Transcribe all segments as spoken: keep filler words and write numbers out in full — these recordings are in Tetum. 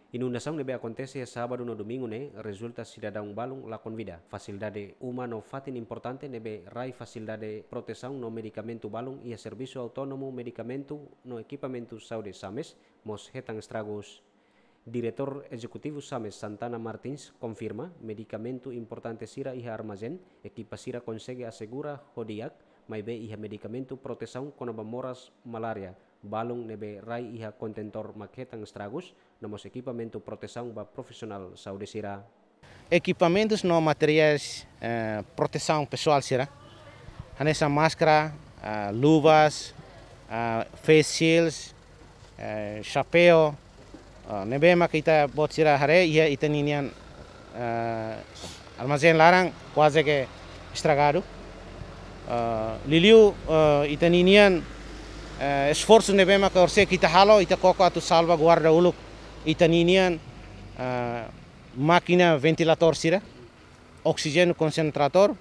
Inundasaun ne'ebé akontese iha sábadu no domingu ne'e rezulta sidadaun balun lakon vida. Fasilidade uma no fatin importante ne'ebé rai fasilidade protesaun no medikamentu balun iha Servisu Autónomu Medikamentu no Ekipamentu Saúde SAMES mós hetan estragus. Diretór Ezekutivu SAMES, Santana Martins, konfirma medikamentu importante sira iha armazén, ekipa sira konsege asegura ho di'ak, maibé iha medikamentu protesaun kona-ba moras malária balun ne'ebé rai iha kontentór mak hetan estragus, no mós ekipamentu protesaun ba profisionál saúde sira. Ekipamentus no materiais, eh, protesaun pesoál sira, hanesan máskara, ah, luvas, ah, face shields, eh, xapeu, ah, ne'ebé maka ita-boot sira haree iha ita-ninian, eh, armazén laran kuaze ke estragadu. Ah, liuliu, eh, ita-ninian, eh, esforsu ne'ebé maka orsida ita halo, ita koko atu salvaguarda uluk ita-ninian, eh, mákina ventiladór sira, oksijéniu konsentradór,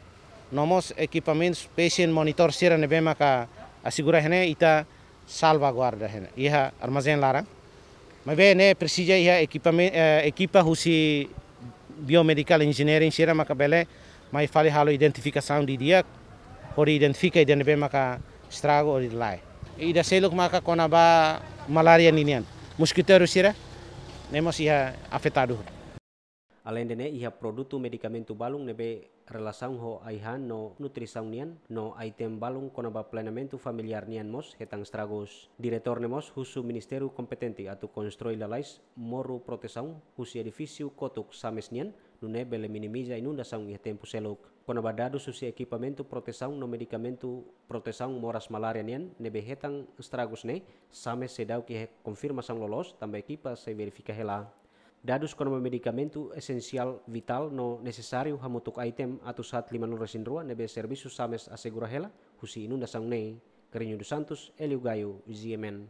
no mós ekipamentus patient monitor sira ne'ebé maka asegura iha ne'e ita salvaguarda iha ne'e, iha armazén laran. Maibé ne'e presiza iha ekipamen-, eh, ekipa husi biomedical engineering sira maka bele mai fali halo identifikasaun didi'ak, hodi identifika ida ne'ebé maka estragu hodi lae. Ida seluk maka kona-ba malária ninian. Moskiteiru sira, ne'e mós iha afetadu. Aleinde ne'e, iha produtu medikamentu balun ne'ebé relasaun ho ai-han no nutrisaun nian, no item balun kona-ba planeamentu familiár nian mós hetan estragus. Diretór ne'e mós husu ministériu kompetente atu konstrui lalais moru protesaun husi edifísiu kotuk SAMES nian, nune'e bele minimiza inundasaun iha tempu seluk. Kona-ba dadus husi ekipamentu protesaun no medikamentu protesaun moras malária nian ne'ebé hetan estragus ne'e, SAMES seidauk iha konfirmasaun loloos, tanba ekipa sei verifika hela. Dadus kona-ba medikamentu esensiál vitál no nesesáriu hamutuk item atus haat limanulu-resin-rua ne'ebé servisu SAMES asegura hela husi inundasaun ne'e. Carrinho dos Santos, Hélio Gaio, G M N.